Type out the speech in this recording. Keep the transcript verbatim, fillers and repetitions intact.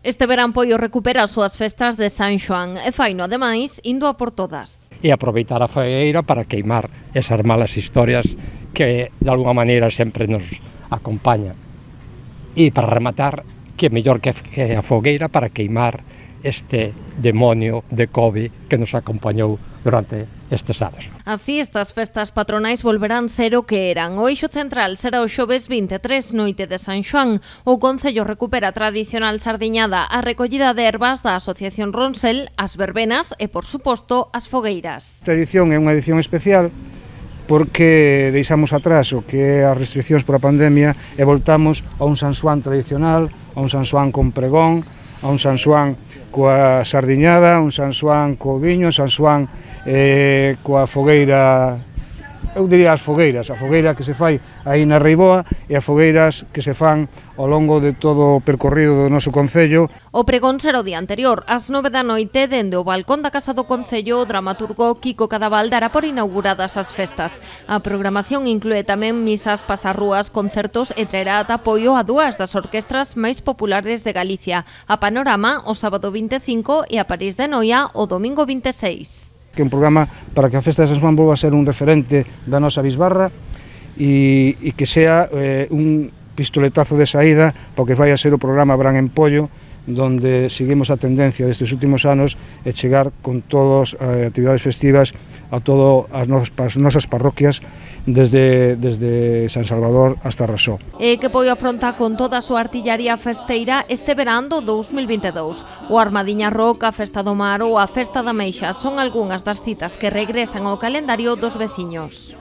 Este verán Poio recupera as súas festas de San Xoán e faino, ademais, indo a por todas. E aproveitar a fogueira para queimar esas malas historias que, de alguna maneira, sempre nos acompañan. E para rematar, que mellor que a fogueira para queimar este demonio de Covid que nos acompañou durante estes anos. Así, estas festas patronais volverán ser o que eran. O eixo central será o xoves vinte e tres, noite de San Xoán. O Concello recupera a tradicional sardiñada, a recollida de ervas da Asociación Ronsel, as verbenas e, por suposto, as fogueiras. Esta edición é unha edición especial porque deixamos atrás o que é as restriccións por a pandemia e voltamos a un San Xoán tradicional, a un San Xoán con pregón, a un San Xoán coa sardiñada, un San Xoán co viño, un San Xoán eh, coa fogueira, eu diría as fogueiras, a fogueira que se fai aí na Reiboa e as fogueiras que se fan ao longo de todo o percorrido do noso Concello. O pregón será o día anterior, ás nove da noite, dende o balcón da Casa do Concello, o dramaturgo Kiko Cadaval dará por inauguradas as festas. A programación inclúe tamén misas, pasarrúas, concertos e traerá ata apoio a dúas das orquestras máis populares de Galicia, a Panorama o sábado vinte e cinco e a París de Noia o domingo vinte e seis. Que é un programa para que a festa de San Xoán volva a ser un referente da nosa bisbarra e, e que sea eh, un pistoletazo de saída para que vai a ser o programa Bran en Pollo, donde seguimos a tendencia destes últimos anos e chegar con todas as eh, actividades festivas a todas as, nos, as nosas parroquias desde, desde San Salvador hasta Rasó. E que Poio afronta con toda a súa artillaría festeira este verán do dous mil vinte e dous. O Armadiña Rock, a Festa do Mar ou a Festa da Meixa son algunhas das citas que regresan ao calendario dos veciños.